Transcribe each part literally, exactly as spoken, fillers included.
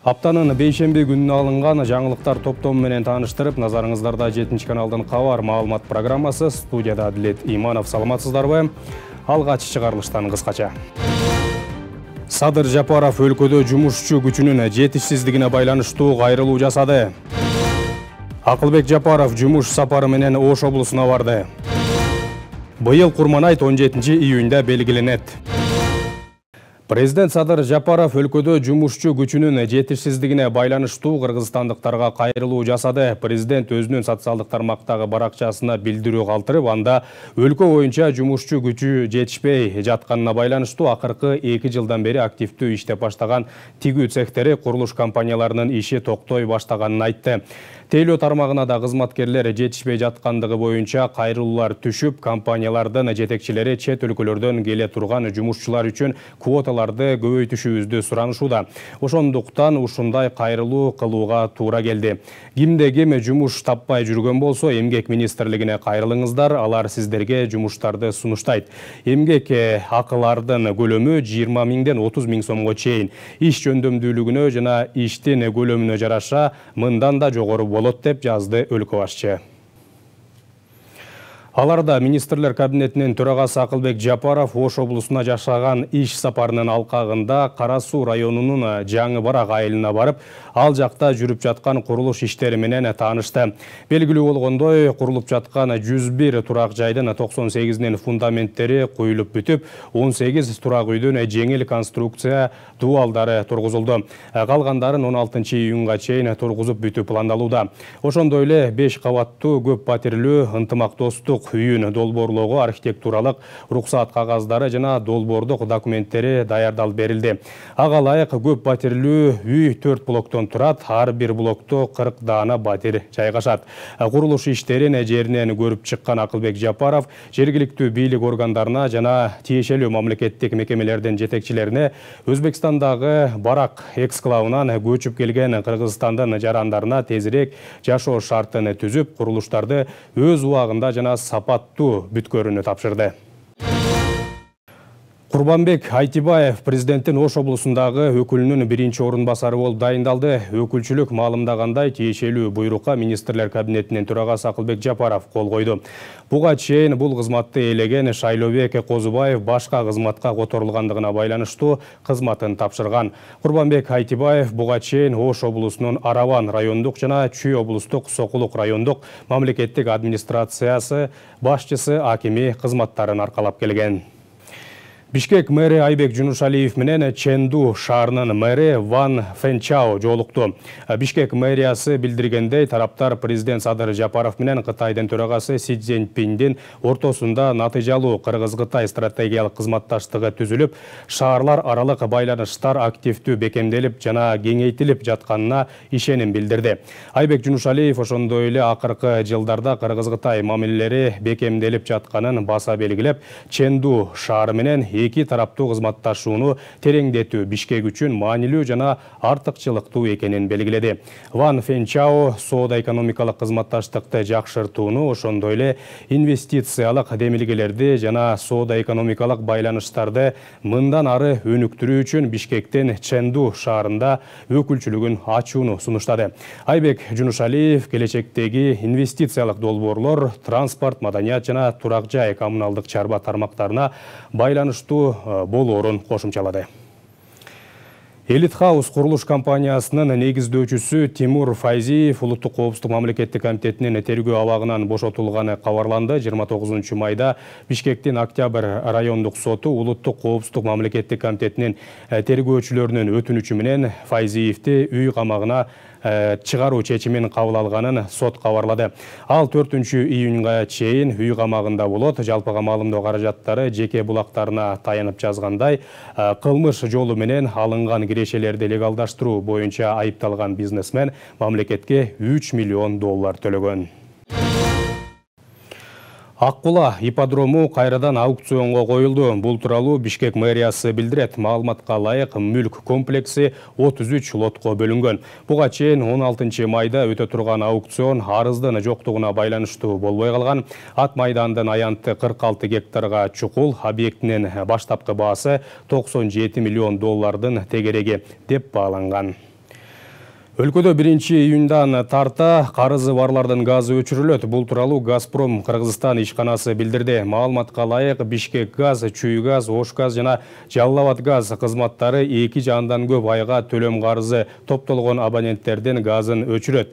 Аптанын бейшемби күнүнө алынган жаңылыктар топтому менен тааныштырып, назарыңыздарда жетинчи каналдын кабар маалымат программасы. Студияда Адилет Иманов. Саламатсыздарбы? Алгач чыгарылыштан кыскача. Садыр Жапаров өлкөдө жумушчу күчүнүн жетишсиздигине байланыштуу кайрылуу жасады. Акылбек Жапаров жумуш сапары менен Ош облусуна барды. Быйыл Курманайт он жетинчи июнда белгиленет. Президент Садыр Жапаров өлкөдө жумушчу күчүнүн жетишсиздигине байланыштуу кыргызстандыктарга кайрылуу жасады. Президент өзүнүн социалдык тармактагы баракчасына билдирүү калтырып, анда өлкө боюнча жумушчу күчү жетишпей жатканына байланыштуу акыркы эки жылдан бери активдүү иштеп баштаган тигүү цехтери, курулуш компанияларынын иши токтой баштаганын айтты. Тейлөө тармагына да кызматкерлер жетишпей жаткандыгы боюнча кайрылуулар түшүп, компаниялардын жетекчилери чет өлкөлөрдөн келе турган жумушчулар үчүн квоталарды көбөйтүшүбүздү суранышууда. Ошондуктан ушундай кайрылуу кылууга туура келди. Кимде ким жумуш таппай жүргөн болсо, эмгек министрлигине кайрылыңыздар, алар сиздерге жумуштарды сунуштайт. Эмгек акылардын көлөмү жыйырма миңден отуз миң сомго чейин. Иш жөндөмдүүлүгүнө жана иштин көлөмүнө жараша мындан да жогору болот деп жазды өлкө башчы. Аларда министрлер кабинетинин төрагасы Акылбек Жапаров Ош облусуна жашаган иш сапарынын алкагында Кара Суу районунун Жаңы Барак айылына барып, ал жакта жүрүп жаткан курулуш иштери менен таанышты. Белгилүү болгондой, курулуп жаткан жүз бир турак жайдын токсон сегизинин фундаменттери куюлуп бүтүп, он сегиз турак үйдүн жеңил конструкция дуалдары тургузулду. Калгандарын он алтынчы июнга чейин тургузуп бүтүү пландалууда. Ошондой эле беш кабаттуу көп патирлүү ынтымактостук үйүн долбоорлоого архитектуралык уруксаат кагаздары жана долбоордук документтери даярдалып берилди. Ага ылайык көп патирлүү үй төрт блоктон турат, ар бир блокто кырк даана батир жайгашат. Курулуш иштерин жеринен көрүп чыккан Акылбек Жапаров жергиликтүү бийлик органдарына жана тиешелүү мамлекеттик мекемелердин жетекчилерине Өзбекстандагы Барак эксклавынан көчүп келген Кыргызстандын жарандарына тезирээк жашоо шартын түзүп, курулуштарды өз убагында жана сапаттуу бүткөрүүнү тапшырды. Курбанбек Айтибаев президенттин Ош облусундагы өкүлүнүн биринчи орун басары болуп дайындалды. Өкүлчүлүк маалымдагандай, тиешелүү буйрукка министрлер кабинетинин төрагасы Акылбек Жапаров кол койду. Буга чейин бул кызматты ээлеген Шайлообек Козубаев башка кызматка которулгандыгына байланыштуу кызматын тапшырган. Курбанбек Айтибаев буга чейин Ош облусунун Араван райондук жана Чүй облустук Сокулук райондук мамлекеттик администрациясы башчысы акими кызматтарын аркалап келген. Бишкек мэри Айбек Жунушалиев менен Чэнду шаарынын мэри Ван Фэнчао жолукту. Бишкек мэриясы билдиргендей, тараптар президент Садыр Жапаров менен Кытайдын төрагасы Си Цзиньпиндин ортосунда натыйжалуу Кыргыз-Кытай стратегиялык кызматташтыгы түзүлүп, шаарлар аралык байланыштар активдүү бекемделип жана кеңейтилип жатканына ишеним билдирди. Айбек Жунушалиев ошондой эле акыркы жылдарда Кыргыз-Кытай мамилелери бекемделип жатканын баса белгилеп, Чэнду шаары менен эки тараптуу кызматташууну тереңдетүү Бишкек үчүн маанилүү жана артыкчылыктуу экенин белгиледи. Ван Фэнчао соода-экономикалык кызматташтыкты жакшыртууну, ошондой эле инвестициялык демилгелерди жана соода-экономикалык байланыштарды мындан ары өнүктүрүү үчүн Бишкектен Чэнду шаарында өкүлчүлүгүн ачууну сунуштады. Айбек Жунушалиев келечектеги инвестициялык долбоорлор, транспорт, маданият жана турак жай коммуналдык чарба тармактарына байланыштуу болоорун кошумчалады. Элит Хаус курулуш компаниясынын негиздөөчүсү Тимур Файзиев улуттук коопсуздук мамлекеттик комитетинин тергөө абагынан бошотулганы кабарланды. жыйырма тогузунчу майда Бишкектин Октябрь райондук соту улуттук коопсуздук мамлекеттик комитетинин тергөөчүлөрүнүн өтүнүчү менен Файзиевди үй камагына чыгаруу чечимин кабыл алганын сот кабарлады. Ал төртүнчү июнга чейин үй камагында болот. Жалпыга маалымдоо каражаттары жеке булактарына таянып жазгандай, кылмыш жолу менен алынган кирешелерди легалдаштыруу боюнча айыпталган бизнесмен мамлекетке үч миллион доллар төлөгөн. Аккула ипподрому кайрадан аукционго коюлду. Бул тууралуу Бишкек мэриясы билдирет. Маалыматка ылайык, мүлк комплекси отуз үч лотко бөлүнгөн. Буга чейин он алтынчы майда өтө турган аукцион арыздын жоктугуна байланыштуу болбой калган. Ак майдандын аянты кырк алты гектарга чукул, объектинин баштапкы баасы токсон жети миллион доллардын тегереги деп бааланган. Өлкөдө биринчи июндан тарта карызы барлардын газы өчүрүлөт. Бул тууралуу Газпром Кыргызстан ишканасы билдирди. Маалыматка ылайык, Бишкек газ, Чүй газ, Ош газ жана Жалал Абад газ кызматтары эки же андан көп айга төлөм карызы топтолгон абоненттердин газын өчүрөт.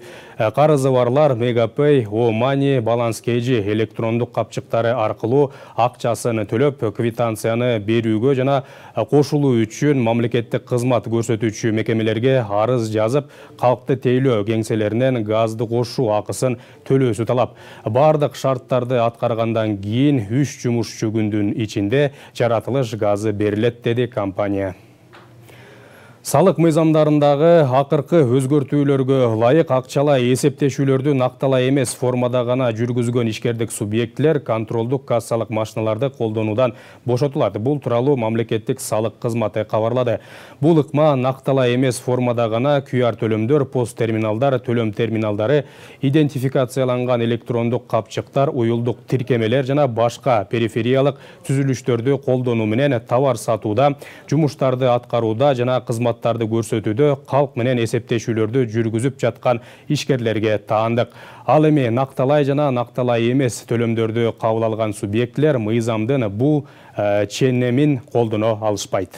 Карызы барлар Мегапей, О-Мани, Баланс Кежи электрондук капчыктары аркылуу акчасын төлөп, квитанцияны берүүгө жана кошулуу үчүн мамлекеттик кызмат көрсөтүүчү мекемелерге арыз жазып, калкты тейлөө кеңселеринен газды кошуу акысын төлөөсү талап. Бардык шарттарды аткаргандан кийин үч жумушчу күндүн ичинде жаратылыш газы берилет, деди компания. Салык мыйзамдарындагы акыркы өзгөртүүлөргө ылайык акчалай эсептешүүлөрдү накталай эмес формада гана жүргүзгөн ишкердик субъектлер контролдук кассалык машиналарды колдонуудан бошотулат. Бул тууралуу мамлекеттик салык кызматы кабарлады. Бул ыкма накталай эмес формада гана кью ар төлөмдөр, пост терминалдар, төлөм терминалдары, идентификацияланган электрондук капчыктар, уюлдук тиркемелер жана башка перифериялык түзүлүштөрдү колдонуу менен товар сатууда, жумуштарды аткарууда жана кызмат тарды көрсөтүүдө калк менен эсептешүүлөрдү жүргүзүп жаткан ишкерлерге таандык. Ал эми накталай жана накталай эмес төлөмдөрдү кабыл алган субъектлер мыйзамдын бул ченемин колдоно алышпайт.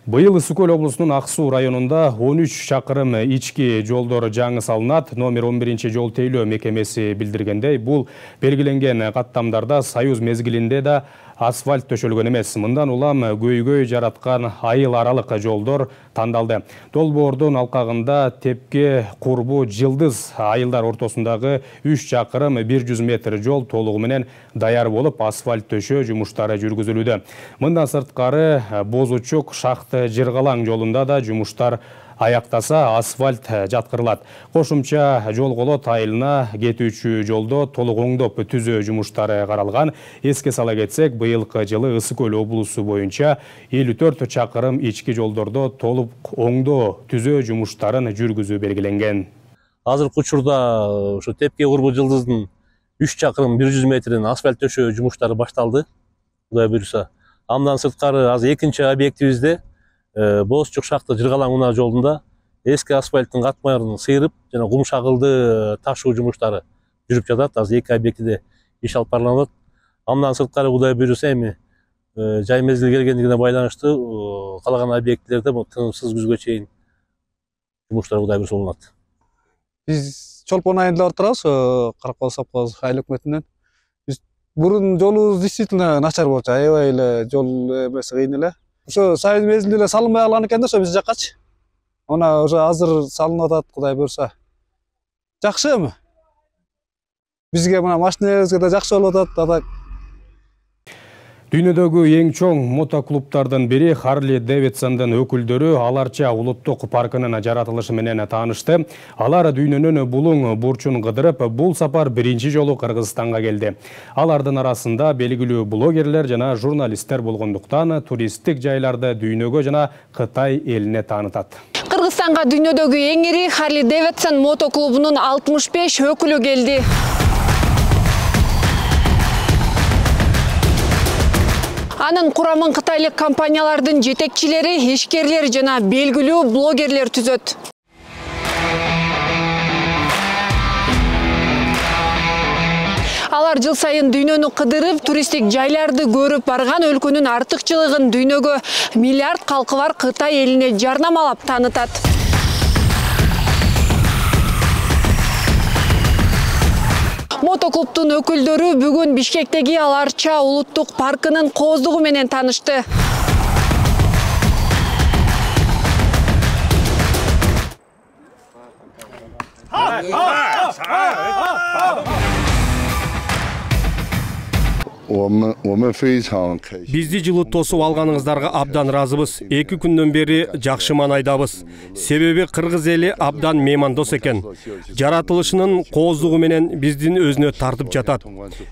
Быйыл Ысык Көл облусунун Ак Суу районунда он үч чакырым ички жолдор жаңы салынат. Номер он биринчи жол тейлөө мекемеси билдиргендей, бул белгиленген каттамдарда Союз мезгилинде да асфальт төшөлгөн эмес. Мындан улам көйгөй жараткан айыл аралык жолдор тандалды. Долбоордун алкагында Тепке, Курбу, Жылдыз айылдар ортосундагы үч чакырым бир жүз метр жол толугу менен даяр болуп, асфальт төшөө жумуштары жүргүзүлүүдө. Мындан сырткары Бозучук, Шахты, Жыргалаң жолунда да жумуштар аяктаса асфальт жаткырылат. Кошумча жол колот айылына кетүүчү жолдо толук оңдоп түзөө жумуштары каралган. Эске сала кетсек, быйылкы жылы Ысык Көл облусу боюнча элүү төрт чакырым ички жолдордо толук оңдоо түзөө жумуштарын жүргүзүү белгиленген. Азыркы учурда ушу Тепке, Курбу, Жылдыздын үч чакырым бир жүз метрден асфальт төшөө жумуштары башталды. Кудай буйруса. Андан сырткары азыр экинчи объектибизде Бозчук, Шахты, Жыргалаң унаа жолунда эски асфальттын катмаларын сыйрып жана кум шагылды ташуу жумуштары жүрүп жатат. Азыр эки объектиде иш алып барылат. Андан сырткары Кудай буйруса эми жай мезгил келгендигине байланыштуу калаган объектилерде бул тынымсыз күзгө чейин жумуштар Кудай буйруса болот. Биз чолпон айында отурабыз, Каракол совхоз айыл өкмөтүнөн. Биз бурун жолубуз действительно начар болчу, аябай эле жол эмеси кыйын эле. Ошо Союз мезгилинде эле салынбай калган экен да, ошо биз жаккачы. Она уже азыр салынып атат, Кудай буйруса. Жакшы эми. Бизге мына машинебизге да жакшы болуп атат. Дүйнөдөгү эң чоң мотоклубтардын бири Харли Дэвидсондун өкүлдөрү Аларча улуттук паркынын жаратылышы менен таанышты. Алар дүйнөнүн булуң бурчун кыдырып, бул сапар биринчи жолу Кыргызстанга келди. Алардын арасында белгилүү блогерлер жана журналисттер болгондуктан туристтик жайларды дүйнөгө жана Кытай элине таанытат. Кыргызстанга дүйнөдөгү эң ири Харли Дэвидсон мотоклубунун алтымыш беш өкүлү келди. Анын курамын кытайлык компаниялардын жетекчилери, ишкерлер жана белгилүү блогерлер түзөт. Алар жыл сайын дүйнөнү кыдырып, туристтик жайларды көрүп барган өлкөнүн артыкчылыгын дүйнөгө миллиард калкы бар Кытай элине жарнамалап таанытат. Мотоклубтун өкүлдөрү бүгүн Бишкектеги Аларча улуттук паркынын кооздугу менен таанышты. Бизди жылы тосуп алганыңыздарга абдан ыраазыбыз. Эки күндөн бери жакшы маанайдабыз. Себеби кыргыз эли абдан меймандос экен. Жаратылышынын кооздугу менен биздин өзүнө тартып жатат.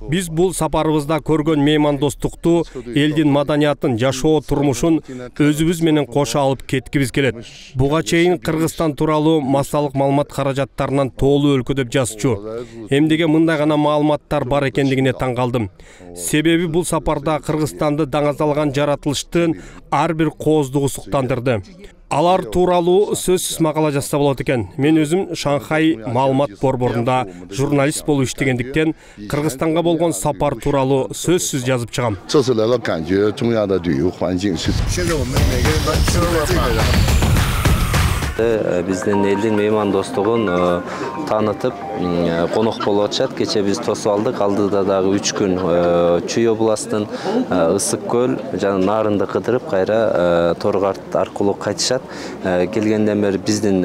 Биз бул сапарыбызда көргөн меймандостукту, элдин маданиятын, жашоо турмушун өзүбүз менен кошо алып кеткибиз келет. Буга чейин Кыргызстан тууралуу массалык маалымат каражаттарынан тоолуу өлкөдөп жазчу. Эмнеге мындай гана маалыматтар бар экендигине таң калдым. Себеби бул сапарда Кыргызстанды даңазалган жаратылыштын ар бир кооздугу суктандырды. Алар тууралуу сөзсүз макала жазса болот экен. Мен өзүм Шанхай маалымат борборунда журналист болуп иштегендиктен Кыргызстанга болгон сапар тууралуу сөзсүз жазып чыгам. Биздин элдин меймандостугун таанытып, конок болуп атышат. Кече биз тосуп алдык. Алдыда дагы үч күн Чүй областын Ысык көл жана Нарынды кыдырып, кайра Торгарт аркылуу кайтышат. Келгенден бери биздин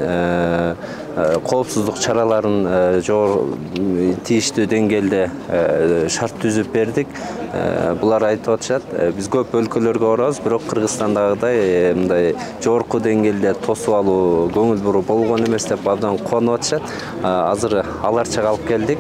коопсуздук чараларын тийиштүү деңгээлде шарт түзүп бердик. Булар айтып атышат, биз көп өлкөлөргө барабыз, бирок Кыргызстандагыдай мындай жогорку деңгээлде тосуп алуу, көңүл буруу болгон эмес деп абдан кубанып атышат. Азыр аларча калып келдик.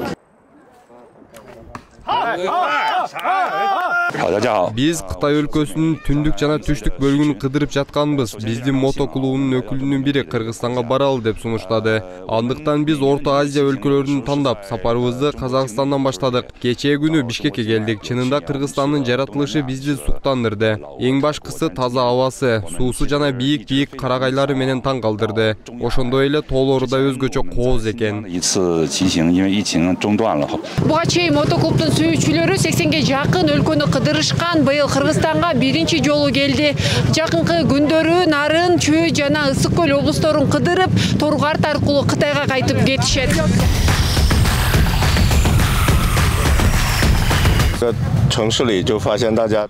Биз Кытай өлкөсүнүн түндүк жана түштүк бөлүгүн кыдырып жатканбыз. Биздин мотоклубунун өкүлүнүн бири Кыргызстанга баралы деп сунуштады. Андыктан биз Орто Азия өлкөлөрүн тандап, сапарыбызды Казакстандан баштадык. Кечээ күнү Бишкекке келдик. Чынында Кыргызстандын жаратылышы бизди суктандырды. Эң башкысы таза абасы, суусу жана бийик-бийик карагайлары менен таң калтырды. Ошондой эле тоолору да өзгөчө кооз экен. Буга чейин мотоклубдун сүйүүчүлөрү сексенге жакын өлкөнү кыдырышкан. Быйыл Кыргызстанга биринчи жолу келди. Жакынкы күндөрү Нарын, Чүй жана Ысык көл облусторун кыдырып, Торгарт аркылуу Кытайга кайтып кетишет.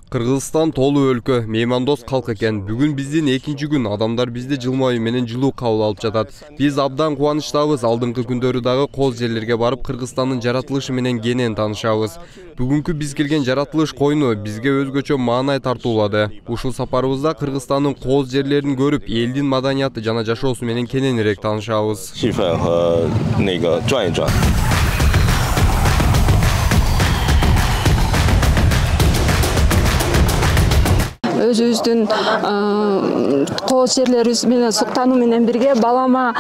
Кыргызстан тоолуу өлкө, меймандос калк экен. Бүгүн биздин экинчи күн, адамдар бизди жылмаюу менен жылуу кабыл алып жатат. Биз абдан кубанычтабыз. Алдыңкы күндөрү дагы кооз жерлерге барып, Кыргызстандын жаратылышы менен кенен таанышабыз. Бүгүнкү биз келген жаратылыш койну бизге өзгөчө маанай тартуулады. Ушул сапарыбызда Кыргызстандын кооз жерлерин көрүп, элдин маданияты жана жашоосу менен кененирээк таанышабыз. Өзүбүздүн кооз жерлерибиз менен суктануу менен бирге балама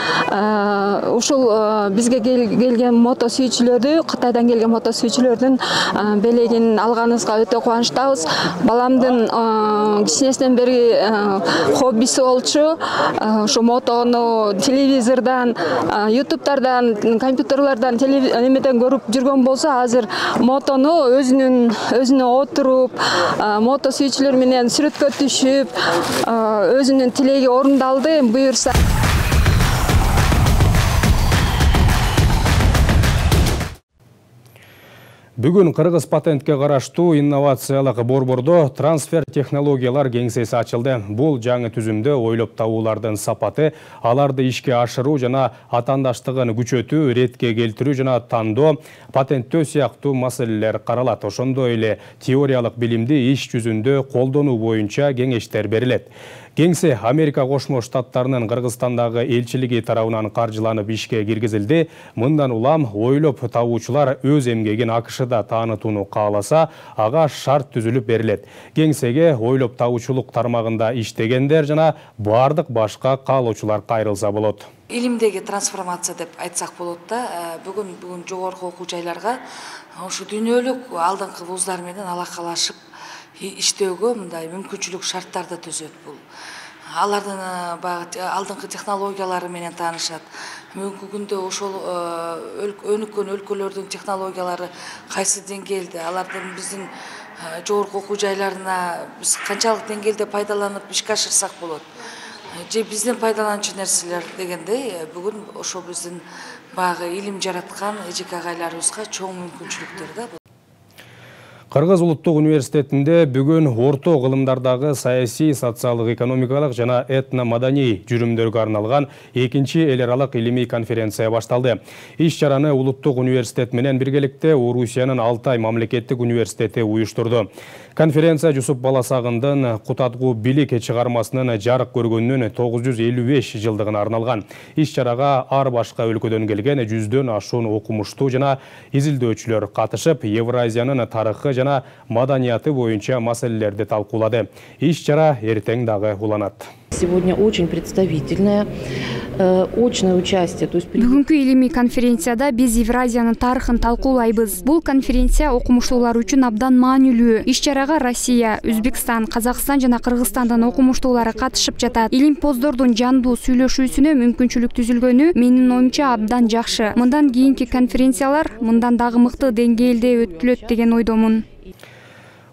ушул бизге келген мото сүйүүчүлөрдү, Кытайдан келген мото сүйүүчүлөрдүн белегин алганыбызга өтө кубанычтабыз. Баламдын кичинесинен бери хоббиси болчу. Ушу мотону телевизордон, ютубтардан, компьютерлерден, эмеден көрүп жүргөн болсо, азыр мотону өзүнүн өзүнө отуруп, мото сүйүүчүлөр менен сүрөткө түшүп, өзүнүн тилеги орундалды, буюрса. Бүгүн Кыргыз патентке караштуу инновациялык борбордо трансфер технологиялар кеңсеси ачылды. Бул жаңы түзүмдө ойлоп табуулардын сапаты, аларды ишке ашыруу жана атаандаштыгын күчөтүү, ретке келтирүү жана тандоо, патенттөө сыяктуу маселелер каралат. Ошондой эле теориялык билимди иш жүзүндө колдонуу боюнча кеңештер берилет. Кеңсе Америка Кошмо Штаттарынын Кыргызстандагы элчилиги тарабынан каржыланып ишке киргизилди. Мындан улам ойлоп табуучулар өз эмгегин АКШда таанытууну кааласа, ага шарт түзүлүп берилет. Кеңсеге ойлоп табуучулук тармагында иштегендер жана бардык башка каалоочулар кайрылса болот. Илимдеги трансформация деп айтсак болот да, бүгүн бүгүн жогорку окуу жайларга ушу дүйнөлүк алдыңкы вуздар менен алакалашып иштөөгө мындай мүмкүнчүлүк шарттарды түзөт. Бул алардын баягы алдыңкы технологиялары менен таанышат. Бүгүнкү күндө ошол өнүккөн өлкөлөрдүн технологиялары кайсы деңгээлде, алардын биздин жогорку окуу жайларына биз канчалык деңгээлде пайдаланып ишке ашырсак болот. Же биздин пайдаланчу нерселер дегендей, бүгүн ошол биздин баягы илим жараткан эжеке агайларыбызга чоң мүмкүнчүлүктөр да. Кыргыз улуттук университетинде бүгүн орто кылымдардагы саясий, социалдык, экономикалык жана этно-маданий жүрүмдөргө арналган экинчи эл аралык илимий конференция башталды. Иш чараны улуттук университет менен биргеликте Орусиянын Алтай мамлекеттик университети уюштурду. Конференция Жусуп Баласагындын Кутатгуу билик чыгармасынын жарык көргөнүнүн тогуз жүз элүү беш жылдыгына арналган. Иш чарага ар башка өлкөдөн келген жүздөн ашуун окумуштуу жана изилдөөчүлөр катышып, Евразиянын тарыхы жана маданияты боюнча маселелерди талкуулады. Иш чара эртең дагы уланат. Сегодня очень представительное, очное участие. Бүгүнкү илимий конференцияда биз Евразиянын тарыхын талкуулайбыз. Бул конференция окумуштуулар үчүн абдан маанилүү. Иш-чарага Россия, Өзбекстан, Казакстан жана Кыргызстандан окумуштуулары катышып жатат. Илимпоздордун жандуу сүйлөшүүсүнө мүмкүнчүлүк түзүлгөнү менин оюмча абдан жакшы. Мындан кийинки конференциялар мындан дагы мыкты деңгээлде өтүлөт деген ойдомун.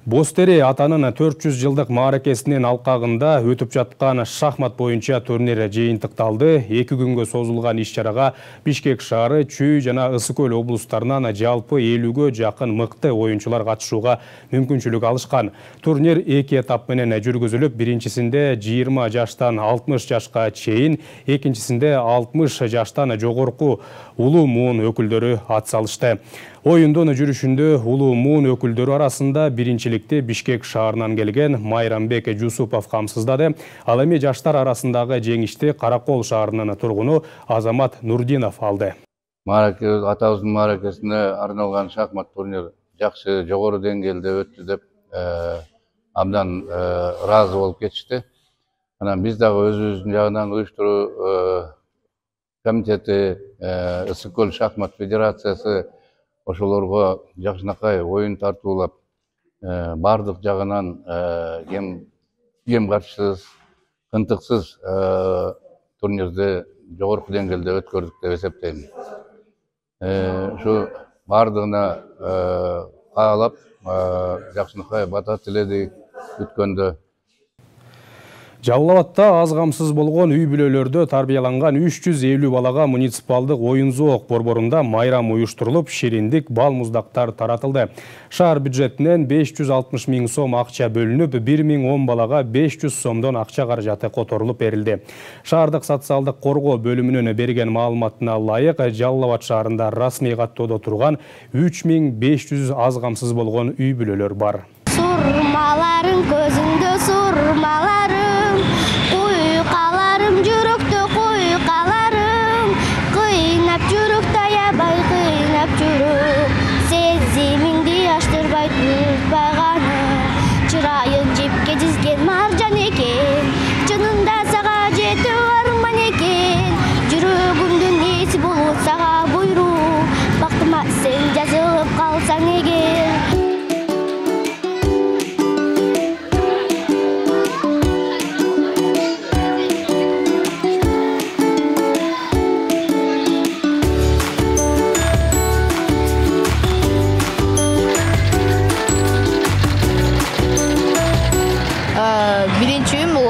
Бостери атанын төрт жүз жылдык мааракесинин алкагында өтүп жаткан шахмат боюнча турнир жыйынтыкталды. Эки күнгө созулган иш-чарага Бишкек шаары, Чүй жана Ысык көл облустарынан жалпы элүүгө жакын мыкты оюнчулар катышууга мүмкүнчүлүк алышкан. Турнир эки этап менен жүргүзүлүп, биринчисинде жыйырма жаштан алтымыш жашка чейин, экинчисинде алтымыш жаштан жогорку улуу муун өкүлдөрү ат салышты. Оюндун жүрүшүндө улуу муун өкүлдөрү арасында биринчиликти Бишкек шаарынан келген Майрамбек Жусупов камсыздады. Ал эми жаштар арасындагы жеңишти Каракол шаарынын тургуну Азамат Нурдинов алды. Атабыздын мааракесине арналган шахмат турнир жакшы, жогору деңгээлде өттү деп абдан ыраазы болуп кетишти. Анан биз дагы өзүбүздүн жагынан уюштуруу комитети, Ысык көл шахмат федерациясы ошолорго жакшынакай оюн тартуулап, бардык жагынан кем каршысыз, кынтыксыз турнирди жогорку деңгээлде өткөрдүк деп эсептейм. Ушу бардыгына каалап, жакшынакай бата тиледик бүткөндө. Жалал Абадта аз камсыз болгон үй бүлөлөрдө тарбияланган үч жүз элүү балага муниципалдык оюн-зоок борборунда майрам уюштурулуп, шириндик, бал муздактар таратылды. Шаар бюджетинен беш жүз алтымыш миң сом акча бөлүнүп, бир миң он балага беш жүз сомдон акча каражаты которулуп берилди. Шаардык социалдык коргоо бөлүмүнүн берген маалыматына ылайык, Жалал Абад шаарында расмий каттоодо турган үч миң беш жүз аз камсыз болгон үй бүлөлөр бар. Сурмаларың көзүндө сурмаларым, куйкаларым жүрөктө куйкаларым, кыйнап жүрөктө аябай кыйнап жүрөк, сезимиңди аштырбай турбаганым, чырайың жипке жизген маржан экен, чынында сага жетүү арман экен, жүрөгүмдүн эси болот сага буйрук, бактыма сен жазылып калсаң эгер.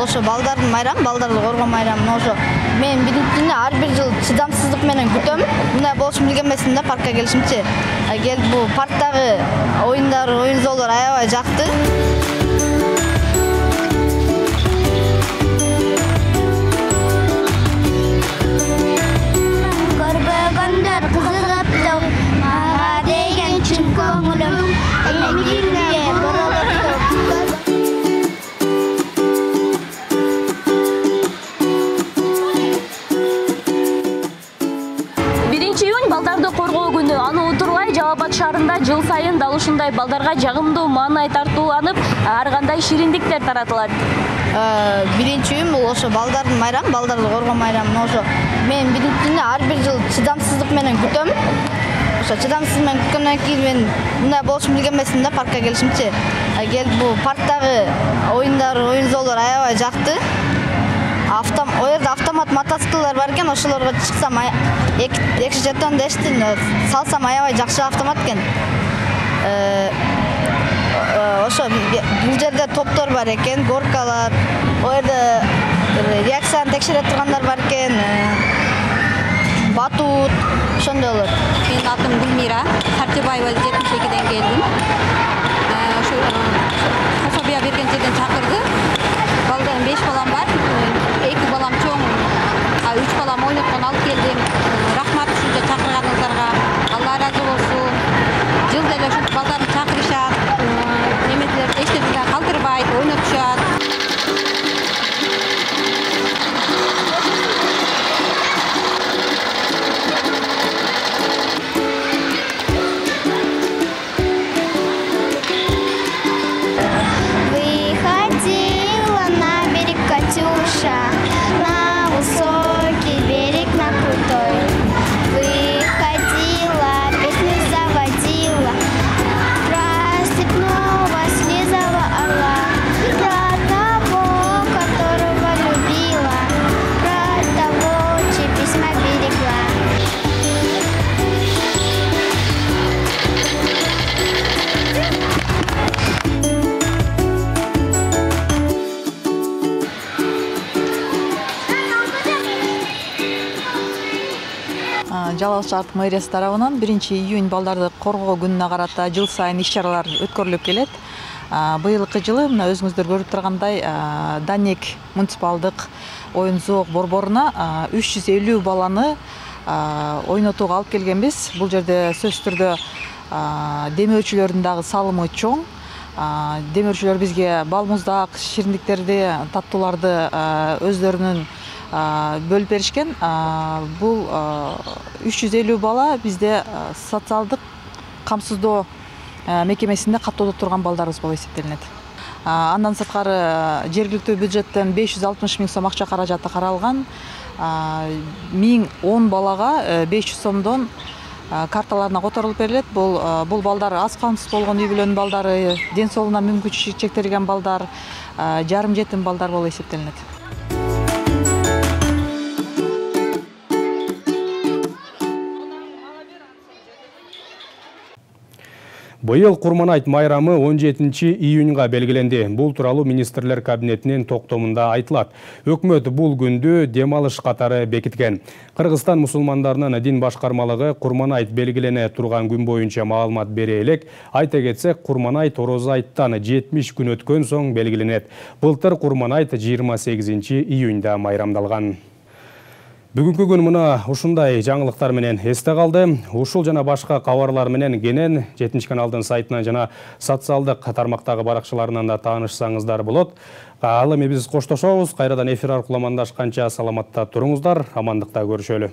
Ошо балдардын майрамы, балдарды коргоо майрамы. Ошо мен биринчиден ар бир жыл чыдамсыздык менен күтөм. Мындай болушун билген эмесмин да паркка келишимчи. Келип бул парктагы оюндар, оюн залдары аябай жакты. Көрбөгөндөр кызыгыптыр, мага деген чын көңүлүм, элеңдирге боролуптур. Балдарды коргоо күнү. Аны утурбай Жалал Абад шаарында жыл сайын дал ушундай балдарга жагымдуу маанай тартууланып, ар кандай шириндиктер таратылат. Биринчи үн бул ошо балдардын майрамы, балдарды коргоо майрамы. Ошо мен биринчиден ар бир жыл чыдамсыздык менен күтөм. Ошо чыдамсыз менен күткөндөн кийин мен мындай болушун билген эмесмин да паркка келишимчи. Келип бул парктагы оюндар, оюн залдары аябай жакты. Автом, о жерде автомат мотоциклдар бар экен, ошолорго чыксам эки жетон дештин, салсам аябай жакшы автомат экен. Ошо бул жерде топтор бар экен, горкалар, о жерде реакцияны текшере тургандар бар экен, батут, ошондойлор. Менин атым Гүлмира Сартибаева, жетимиш экиден келдим. Ошо пособия берген жерден чакырды. Балдан беш балам бар. Эки балам чоң, үч балам ойноткон алып келдим. Рахмат ушунча чакырганыңыздарга. Алла ыраазы болсун. Жылда эле ушинтип балдарды чакырышат, неметилер эчтеке калтырбайт, ойнотушат. Выходила на берег Катюша. Алмаз шаардык мэриясы тарабынан биринчи июнь балдарды коргоо күнүнө карата жыл сайын иш-чаралар өткөрүлүп келет. Быйылкы жылы мына өзүңүздөр көрүп тургандай Данек муниципалдык оюн зоок борборуна үч жүз элүү баланы ойнотууга алып келгенбиз. Бул жерде сөзсүз түрдө демөөрчүлөрдүн дагы салымы чоң. Демөөрчүлөр бизге бал муздак, шириндиктерди, таттууларды өздөрүнүн бөлүп беришкен. Бул үч жүз элүү бала бизде социалдык камсыздоо мекемесинде каттоодо турган балдарыбыз болуп эсептелинет. Андан сырткары жергиликтүү бюджеттен беш жүз алтымыш миң сом акча каражаты каралган. миң он балага беш жүз сомдон карталарына которулуп берилет. Бул бул балдар аз камсыз болгон үй бүлөнүн балдары, ден соолугуна мүмкүнчүлүгү чектелген балдар, жарым жетим балдар болуп эсептелинет. Быйыл Курманайт майрамы он жетинчи июнга белгиленди. Бул тууралуу министрлер кабинетинин токтомунда айтылат. Өкмөт бул күндү дем алыш катары бекиткен. Кыргызстан мусулмандарынын дин башкармалыгы Курманайт белгилене турган күн боюнча маалымат бере элек. Айта кетсек, Курманайт Орозо айттан жетимиш күн өткөн соң белгиленет. Былтыр Курманайт жыйырма сегизинчи июнда майрамдалган. Бүгүнкү күн мына ушундай жаңылыктар менен эсте калды. Ушул жана башка кабарлар менен кенен жетинчи каналдын сайтынан жана социалдык тармактагы баракчаларынан да таанышсаңыздар болот. Ал эми биз коштошобуз. Кайрадан эфир аркылуу амандашканча саламатта туруңуздар, амандыкта көрүшөлү.